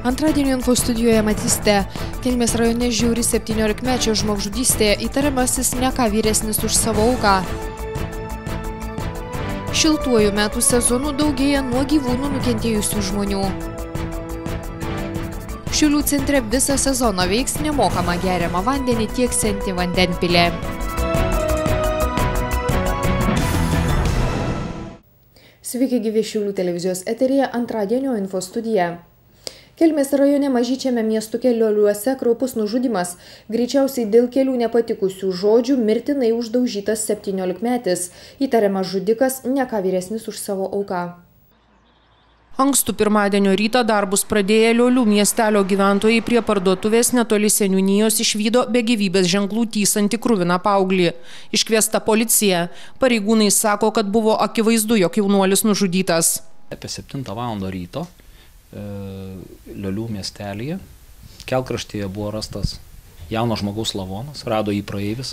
Antradienio info studijoje matysite, Kelmės rajone žiauri 17-mečio žmogžudystėje įtariamasis ne ką vyresnis už savo auką. Šiltuoju metų sezonu daugėja nuo gyvūnų nukentėjusių žmonių. Šiaulių centre visą sezoną veiks nemokamą geriamą vandenį tieksianti vandenpilė. Sveiki gyvi Šiaulių televizijos eteryje antradienio info studija. Kelmės rajone mažyčiame miestuke Lioliuose kraupus nužudymas, greičiausiai dėl kelių nepatikusių žodžių mirtinai uždaužytas 17-metis, įtariamas žudikas ne ką vyresnis už savo auką. Ankstų pirmadienio rytą darbus pradėję Liolių miestelio gyventojai prie parduotuvės netoli seniūnijos išvydo be gyvybės ženklų tįsantį kruviną paauglį. Iškviesta policija. Pareigūnai sako, kad buvo akivaizdu, jog jaunuolis nužudytas. Apie 7 val. Ryto Liolių miestelyje kelkraštyje buvo rastas jauno žmogaus lavonas, rado jį praeivis.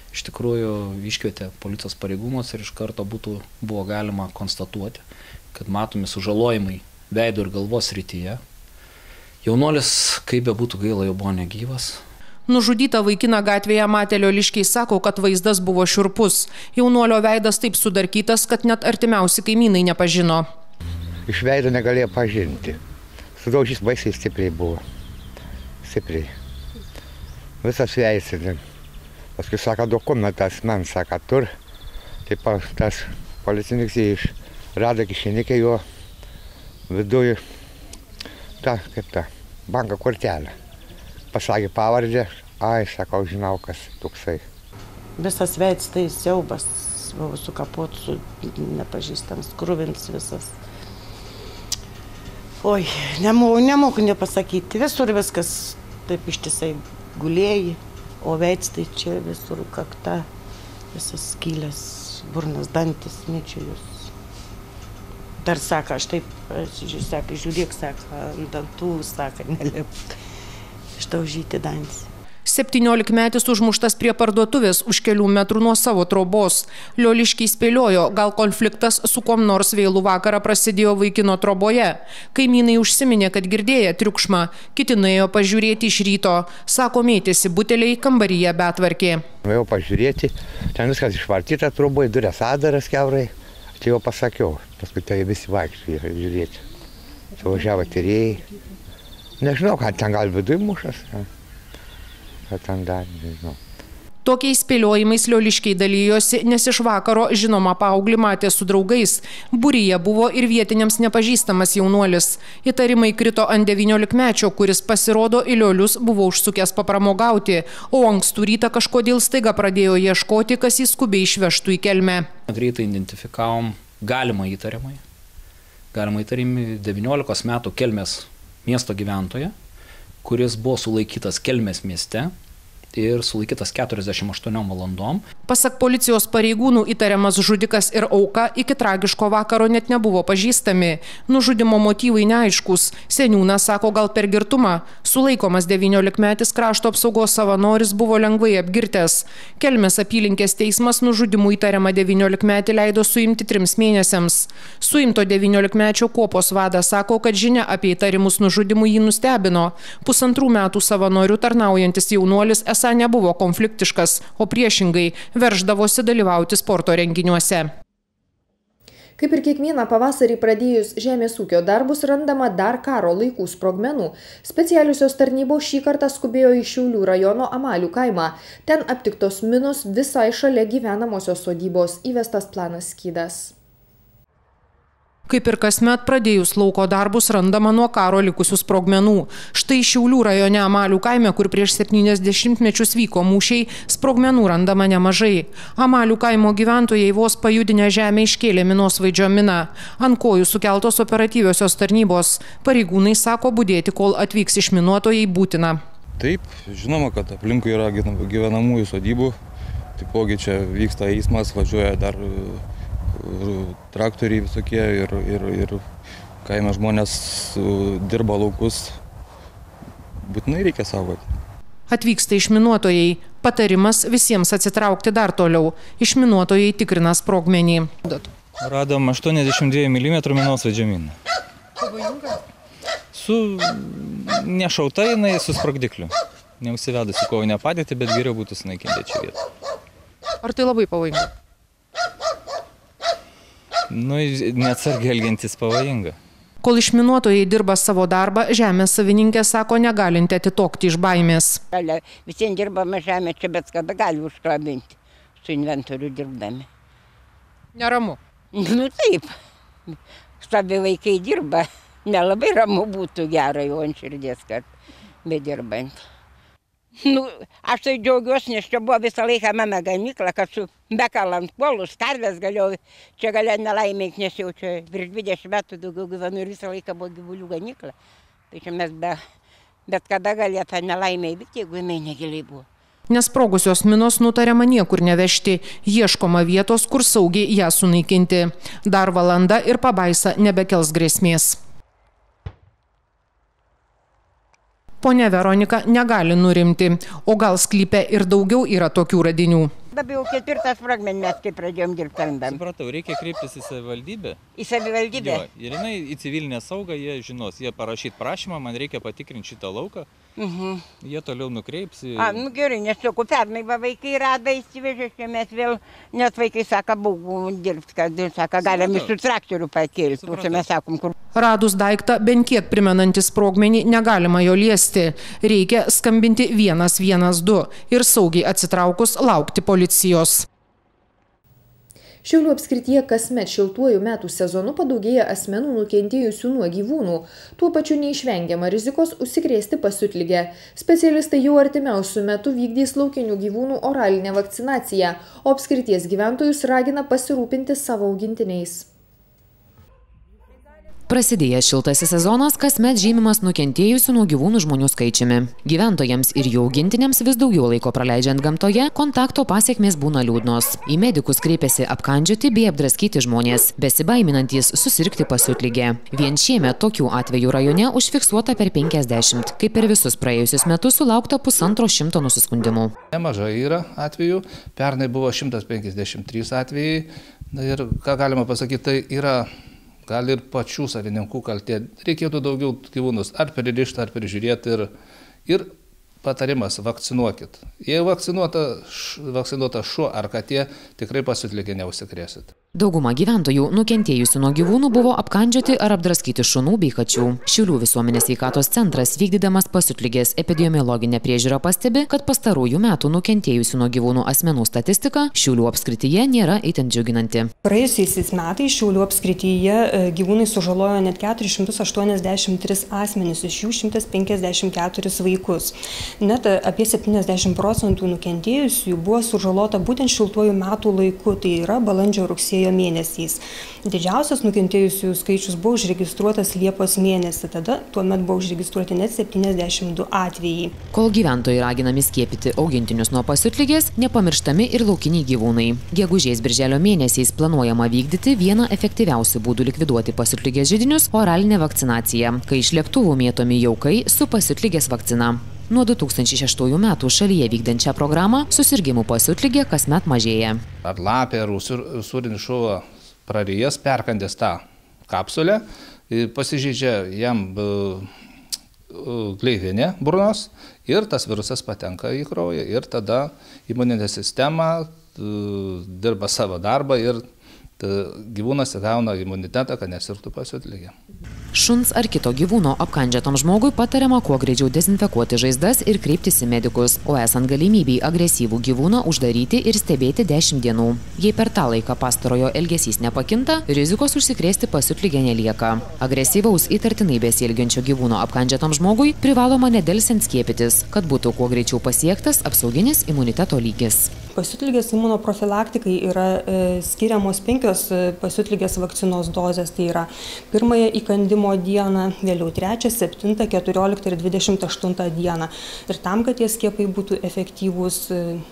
Iš tikrųjų iškvietė policijos pareigūnus ir iš karto buvo galima konstatuoti, kad matomi sužalojimai veido ir galvos srityje. Jaunuolis, kaip be būtų gaila, jau buvo negyvas. Nužudytą vaikiną gatvėje matę lioliškiai sako, kad vaizdas buvo šiurpus. Jaunuolio veidas taip sudarkytas, kad net artimiausi kaimynai nepažino. Iš veido negalėjo pažinti. Sudaužys baisiai stipriai buvo. Stipriai. Visas veidas. Paskui sako, dokumentas man sako, tur. Taip tas policininkas rado kišenikę jo viduje banko kortelę. Pasakė pavardę, sakau, žinau, kas toksai. Visas veidas tai siaubas, buvo sukapot su nepažįstams, kruvins visas. Oi, nemoku nepasakyti, visur viskas taip ištisai gulėjai, o veids tai čia visur kakta, visas skylės, burnas, dantis, mėčiujus. Dar sako, aš taip, žiūrėk, sako, ant dantų, sako, nelip, išdaužyti dantis. 17-metis užmuštas prie parduotuvės už kelių metrų nuo savo trobos. Lioliškiai spėliojo, gal konfliktas su kuom nors vėlų vakarą prasidėjo vaikino troboje. Kaimynai užsiminė, kad girdėję triukšmą, kiti nuėjo pažiūrėti iš ryto. Sako, mėtėsi buteliai kambaryje betvarkė. Nuėjau pažiūrėti, ten viskas išvartyta troboje, durės adaras kiaurai. Tai jau pasakiau, paskui tai visi vaikščiojo žiūrėti. Suvažiavo tyrėjai. Nežinau, ką ten gal viduj mušas. Tokiais spėliojimais lioliškiai dalyjosi, nes iš vakaro žinomą paauglį matė su draugais. Būryje buvo ir vietiniams nepažįstamas jaunuolis. Įtarimai krito ant 19-mečio, kuris pasirodo į Liolius buvo užsukęs papramogauti, o ankstų rytą kažkodėl staiga pradėjo ieškoti, kas jį skubiai išvežtų į Kelmę. Greitai identifikavom galimą įtarimą 19 metų Kelmės miesto gyventoją, kuris buvo sulaikytas Kelmės mieste ir sulaikytas 48 valandom. Pasak policijos pareigūnų, įtariamas žudikas ir auka iki tragiško vakaro net nebuvo pažįstami. Nužudimo motyvai neaiškus. Seniūnas sako, gal per girtumą. Sulaikomas 19-metis krašto apsaugos savanoris buvo lengvai apgirtęs. Kelmės apylinkės teismas nužudimų įtariamą 19-metį leido suimti 3 mėnesiams. Suimto 19-mečio kuopos vadas sako, kad žinia apie įtarimus nužudimų jį nustebino. 1,5 metų savanorių tarnaujantis jaunuolis esą nebuvo konfliktiškas, o priešingai verždavosi dalyvauti sporto renginiuose. Kaip ir kiekvieną pavasarį pradėjus žemės ūkio darbus randama dar karo laikų sprogmenų. Specialiosios tarnybos šį kartą skubėjo į Šiaulių rajono Amalių kaimą. Ten aptiktos minos visai šalia gyvenamosios sodybos, įvestas planas skydas. Kaip ir kasmet pradėjus lauko darbus randama nuo karo likusių sprogmenų. Štai Šiaulių rajone Amalių kaime, kur prieš 70 mečius vyko mūšiai, sprogmenų randama nemažai. Amalių kaimo gyventojai vos pajudinę žemę iškėlė minosvaidžio miną. Ant kojų sukeltos operatyviosios tarnybos. Pareigūnai sako, budėti, kol atvyks išminuotojai, būtina. Taip, žinoma, kad aplinkui yra gyvenamųjų sodybų. Taipogi čia vyksta eismas, važiuoja dar traktoriai visokie ir kaime žmonės dirba laukus, būtinai reikia saugoti. Atvyksta išminuotojai. Patarimas visiems atsitraukti dar toliau. Išminuotojai tikrina sprogmenį. Radom 82 mm minosvaidžio miną. nešauta jinai su sprogdikliu. Neusivedus į kovinę padėtį, bet geriau būtų sunaikinti čia vietą. Ar tai labai pavojinga? Neatsargiai elgiantis pavojinga. Kol išminuotojai dirba savo darbą, žemės savininkė sako negalinti atitokti iš baimės. Visiems dirbame žemė, čia bet kada gali užklabinti su inventoriu dirbdami. Neramu? Taip. Štabi vaikai dirba. Nelabai ramu būtų gera jau ant širdies, kad bedirbant. Aš tai džiaugiuosi, nes čia buvo visą laiką mano gamykla, kad su bekalant puolus, karvės galėjau, čia galėjo nelaimėk, nes jau čia virš 20 metų daugiau gyvenu ir visą laiką buvo gyvulių gamykla. Tai čia mes bet kada galėjo tą nelaimę įvykti, jeigu jinai negiliai buvo. Nesprogusios minos nutariama niekur nevežti, ieškoma vietos, kur saugiai ją sunaikinti. Dar valanda ir pabaisa nebekels grėsmės. Ponia Veronika negali nurimti, o gal sklype ir daugiau yra tokių radinių. Dabar jau 4 sprogmenį kai pradėjom dirbti randam. Supratau, reikia kreiptis į savivaldybę. Į savivaldybę? Jo, ir jinai į civilinę saugą, jie žinos, jie parašyti prašymą, man reikia patikrinti šitą lauką. Jie toliau nukreips. Gerai, nes sakau, pernai vaikai rada įsivežė, čia mes vėl, net vaikai sako, būgų dirbti, kad sako, galim iš traktorių pakilti, čia mes sakom, kur. Radus daiktą, bent kiek primenantį sprogmenį, negalima jo liesti. Reikia skambinti 112 ir saugiai atsitraukus laukti policijos. Šiaulių apskrityje kasmet šiltuoju metų sezonu padaugėja asmenų nukentėjusių nuo gyvūnų. Tuo pačiu neišvengiama rizikos užsikrėsti pasiutlige. Specialistai jau artimiausiu metu vykdys laukinių gyvūnų oralinę vakcinaciją, o apskrities gyventojus ragina pasirūpinti savo augintiniais. Prasidėjęs šiltasis sezonas kasmet žymimas nukentėjusių nuo gyvūnų žmonių skaičiumi. Gyventojams ir jų augintiniams vis daugiau laiko praleidžiant gamtoje, kontakto pasekmės būna liūdnos. Į medikus kreipiasi apkandžioti bei apdraskyti žmonės, besibaiminantys susirgti pasiutlige. Vien šiemet tokių atvejų rajone užfiksuota per 50, kai per visus praėjusius metus sulaukta 150 nusiskundimų. Nemažai yra atvejų, pernai buvo 153 atvejai ir ką galima pasakyti, tai yra gal ir pačių savininkų kaltė. Reikėtų daugiau gyvūnus ar pririšti, ar prižiūrėti ir patarimas vakcinuokit. Jei vakcinuota šuo ar katė, tikrai pasiutlige neužsikrėsit. Dauguma gyventojų nukentėjusių nuo gyvūnų buvo apkandžioti ar apdraskyti šunų bei kačių. Šiaulių visuomenės sveikatos centras, vykdydamas pasiutligės epidemiologinę priežiūrą, pastebi, kad pastarųjų metų nukentėjusių nuo gyvūnų asmenų statistika Šiaulių apskrityje nėra itin džiuginanti. Praėjusiais metais Šiaulių apskrityje gyvūnai sužalojo net 483 asmenys, iš jų 154 vaikus. Net apie 70% nukentėjusių buvo sužalota būtent šiltuoju metų laiku, tai yra balandžio-rugsėjo mėnesiais. Didžiausias nukentėjusių skaičius buvo užregistruotas Liepos mėnesį, tada tuomet buvo užregistruoti net 72 atvejai. Kol gyventojai raginami skiepyti augintinius nuo pasiutligės, nepamirštami ir laukiniai gyvūnai. Gegužės-birželio mėnesiais planuojama vykdyti vieną efektyviausių būdų likviduoti pasiutligės židinius – oralinę vakcinaciją, kai iš lėktuvų mėtomi jaukai su pasiutligės vakcina. Nuo 2006 metų šalyje vykdančią programą susirgimų pasiutligė kasmet mažėja. Ar lapė, ar usūrinis šuo prarijęs, perkandęs tą kapsulę, pasižeidžia jam gleivinė burnos ir tas virusas patenka į kraują ir tada imuninė sistema dirba savo darbą ir gyvūnas įgauna imunitetą, kad nesirgtų pasiutligė. Šuns ar kito gyvūno apkandžiatam žmogui patariama kuo greičiau dezinfekuoti žaizdas ir kreiptis į medikus, o esant galimybei agresyvų gyvūną uždaryti ir stebėti 10 dienų. Jei per tą laiką pastarojo elgesys nepakinta, rizikos užsikrėsti pasiutligė nelieka. Agresyvaus įtartinai besielgiančio gyvūno apkandžiatam žmogui privaloma nedelsiant skiepytis, kad būtų kuo greičiau pasiektas apsauginis imuniteto lygis. Pasiutligės imunoprofilaktikai yra skiriamos 5 pasiutligės vakcinos dozės, tai yra pirmąją įkandimo dieną, vėliau 3, 7, 14 ir 28 dieną. Ir tam, kad tie skiepai būtų efektyvūs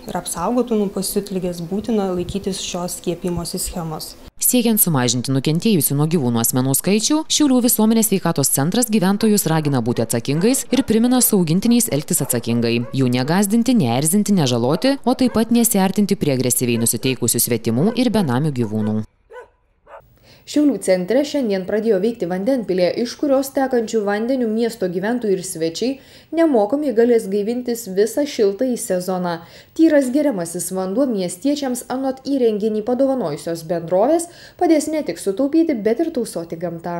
ir apsaugotų nuo pasiutligės, būtina laikytis šios skiepimosi schemos. Siekiant sumažinti nukentėjusių nuo gyvūnų asmenų skaičių, Šiaulių visuomenės sveikatos centras gyventojus ragina būti atsakingais ir primena su augintiniais elgtis atsakingai. Jų negąsdinti, neerzinti, nežaloti, o taip pat nesiartinti prie agresyviai nusiteikusių svetimų ir benamių gyvūnų. Šiaulių centre šiandien pradėjo veikti vandenpilė, iš kurios tekančių vandenių miesto gyventojai ir svečiai nemokamai galės gaivintis visą šiltąjį sezoną. Tyras geriamasis vanduo miestiečiams anot įrenginį padovanojusios bendrovės padės ne tik sutaupyti, bet ir tausoti gamtą.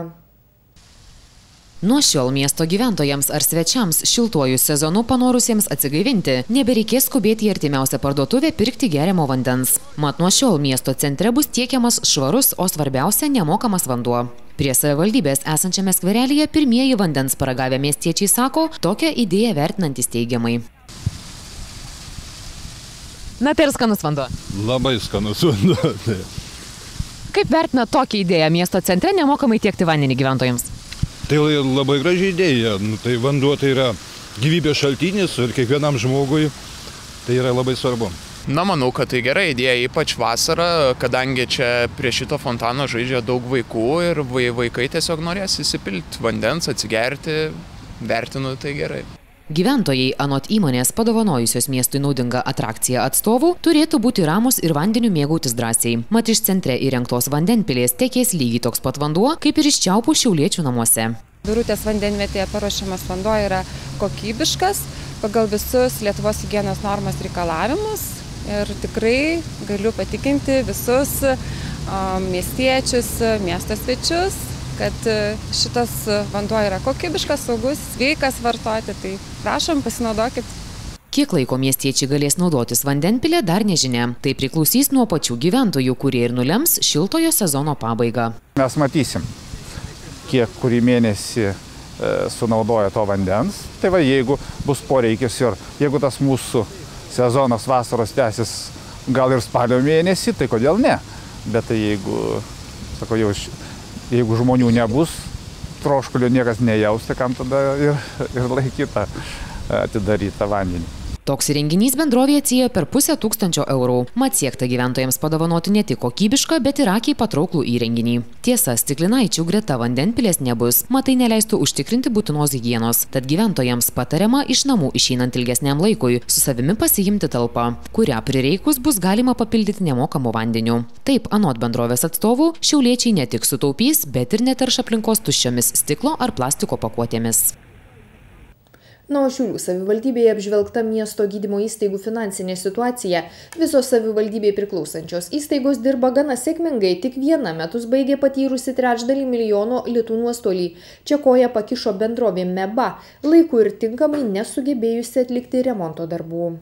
Nuo šiol miesto gyventojams ar svečiams šiltuoju sezonu panorusiems atsigaivinti nebereikės skubėti į artimiausią parduotuvę pirkti geriamo vandens. Mat nuo šiol miesto centre bus tiekiamas švarus, o svarbiausia nemokamas vanduo. Prie savivaldybės esančiame skverelyje pirmieji vandens paragavę miestiečiai sako, tokią idėją vertinantis teigiamai. Na tai ir skanus vanduo. Labai skanus vanduo. Kaip vertina tokią idėją miesto centre nemokamai tiekti vandenį gyventojams? Tai labai graži idėja. Tai vanduo tai yra gyvybės šaltinis ir kiekvienam žmogui tai yra labai svarbu. Na, manau, kad tai gera idėja, ypač vasarą, kadangi čia prie šito fontano žaidžia daug vaikų ir vaikai tiesiog norės įsipilti vandens, atsigerti, vertinu tai gerai. Gyventojai, anot įmonės padovanojusios miestui naudingą atrakciją atstovų, turėtų būti ramus ir vandeniu mėgautis drąsiai. Mat iš centre įrengtos vandenpilės tekės lygiai toks pat vanduo, kaip ir iš čiaupų šiauliečių namuose. Birutės vandenvietėje paruošiamas vanduo yra kokybiškas pagal visus Lietuvos higienos normos reikalavimus ir tikrai galiu patikinti visus miestiečius, miesto svečius, kad šitas vanduo yra kokybiškas, saugus, sveikas vartoti, tai prašom, pasinaudokit. Kiek laiko miestiečiai galės naudotis vandenpilė, dar nežinia. Tai priklausys nuo pačių gyventojų, kurie ir nulems šiltojo sezono pabaigą. Mes matysim, kiek kurį mėnesį sunaudoja to vandens. Tai va, jeigu bus poreikis ir jeigu tas mūsų sezonas vasaros tęsis gal ir spalio mėnesį, tai kodėl ne? Bet tai jeigu, sako, jeigu žmonių nebus, troškulio niekas nejaus, tai kam tada ir laikyta atidarytą vandenį. Toks įrenginys bendrovė atsiėjo per 500 eurų. Mat siekta gyventojams padovanoti ne tik kokybišką, bet ir akiai patrauklų įrenginį. Tiesa, stiklinaičių greta vandenpilės nebus, mat tai neleistų užtikrinti būtinos higienos. Tad gyventojams patariama iš namų išeinant ilgesniam laikui su savimi pasiimti talpą, kurią prireikus bus galima papildyti nemokamu vandeniu. Taip, anot bendrovės atstovų, šiauliečiai ne tik sutaupys, bet ir neterš aplinkos tuščiomis stiklo ar plastiko pakuotėmis. Na, o Šiaulių savivaldybėje apžvelgta miesto gydymo įstaigų finansinė situacija. Visos savivaldybėje priklausančios įstaigos dirba gana sėkmingai, tik viena metus baigė patyrusi $300 000 litų nuostolį. Čia koją pakišo bendrovė MEBA, laiku ir tinkamai nesugebėjusi atlikti remonto darbų.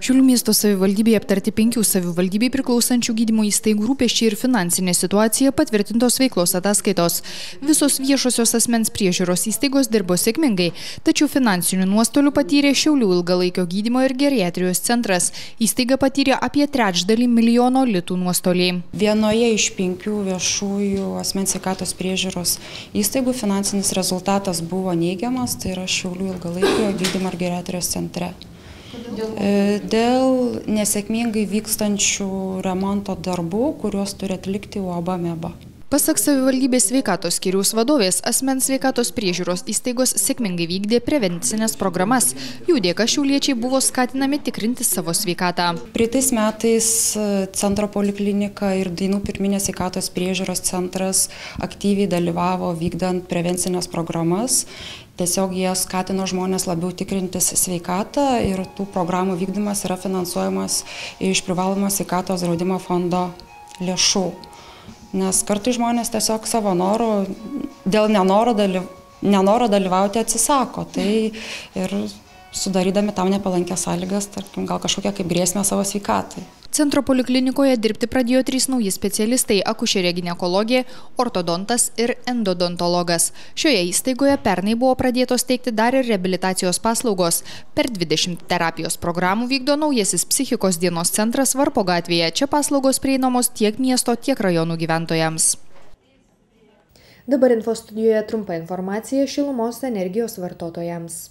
Šiaulių miesto savivaldybėje aptarti 5 savivaldybei priklausančių gydymo įstaigų rūpesčiai ir finansinė situacija patvirtintos veiklos ataskaitos. Visos viešosios asmens priežiūros įstaigos dirbo sėkmingai, tačiau finansinių nuostolių patyrė Šiaulių ilgalaikio gydymo ir geriatrijos centras. Įstaiga patyrė apie $300 000 litų nuostolį. Vienoje iš 5 viešųjų asmens sveikatos priežiūros įstaigų finansinis rezultatas buvo neigiamas, tai yra Šiaulių ilgalaikio gydymo ir geriatrijos centre. Dėl nesėkmingai vykstančių remonto darbų, kuriuos turi atlikti UAB MEBA. Pasak savivaldybės sveikatos skyriaus vadovės, asmens sveikatos priežiūros įstaigos sėkmingai vykdė prevencinės programas. Jų dėka šiauliečiai buvo skatinami tikrinti savo sveikatą. Praeitais metais centro poliklinika ir Dainų pirminės sveikatos priežiūros centras aktyviai dalyvavo vykdant prevencinės programas. Tiesiog jie skatino žmonės labiau tikrintis sveikatą ir tų programų vykdymas yra finansuojamas iš privalomo sveikatos draudimo fondo lėšų. Nes kartais žmonės tiesiog savo noro, dėl nenoro dalyvauti atsisako. Tai ir sudarydami tam nepalankęs sąlygas, tarkim, gal kažkokią kaip grėsmę savo sveikatai. Centro poliklinikoje dirbti pradėjo 3 nauji specialistai – akušerė ginekologė, ortodontas ir endodontologas. Šioje įstaigoje pernai buvo pradėtos teikti dar ir reabilitacijos paslaugos. Per 20 terapijos programų vykdo naujasis psichikos dienos centras Varpo gatvėje. Čia paslaugos prieinamos tiek miesto, tiek rajonų gyventojams. Dabar info studijoje trumpa informacija šilumos energijos vartotojams.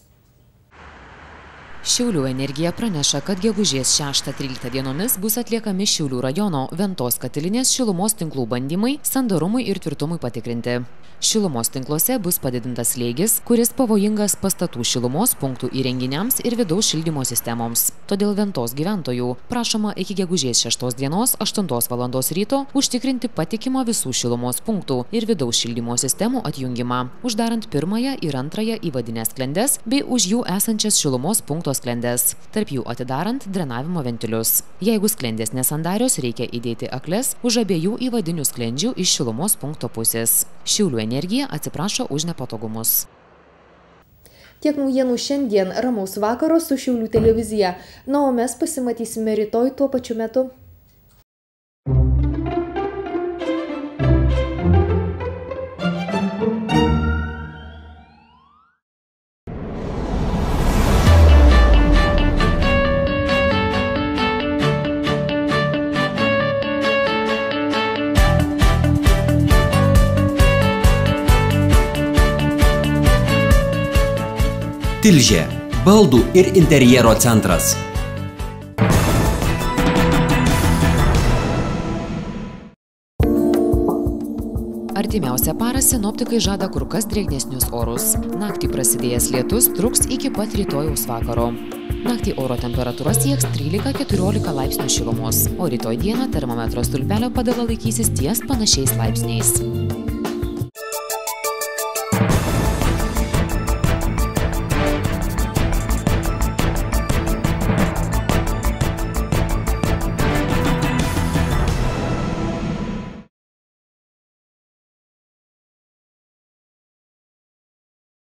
Šiaulių energija praneša, kad gegužės 6-13 dienomis bus atliekami Šiaulių rajono Ventos katilinės šilumos tinklų bandymai sandarumui ir tvirtumui patikrinti. Šilumos tinkluose bus padidintas slėgis, kuris pavojingas pastatų šilumos punktų įrenginiams ir vidaus šildymo sistemoms. Todėl Ventos gyventojų prašoma iki gegužės 6 dienos 8 val. Ryto užtikrinti patikimą visų šilumos punktų ir vidaus šildymo sistemų atjungimą, uždarant pirmąją ir antrąją įvadinės sklendes bei už jų esančias šilumos punkto sklendes, tarp jų atidarant drenavimo ventilius. Jeigu sklendės nesandarios, reikia įdėti akles už abiejų įvadinių sklendžių iš šilumos punkto pusės. Šiaulių energija atsiprašo už nepatogumus. Tiek naujienų šiandien, ramaus vakaro su Šiaulių televizija. Na, o mes pasimatysime rytoj tuo pačiu metu. Tilžė – baldų ir interjero centras. Artimiausią parą sinoptikai žada kur kas drėgnesnius orus. Naktį prasidėjęs lietus truks iki pat rytojaus vakaro. Naktį oro temperatūra sieks 13–14 laipsnių šilumos, o rytoj dieną termometro stulpelio padala laikysis ties panašiais laipsniais.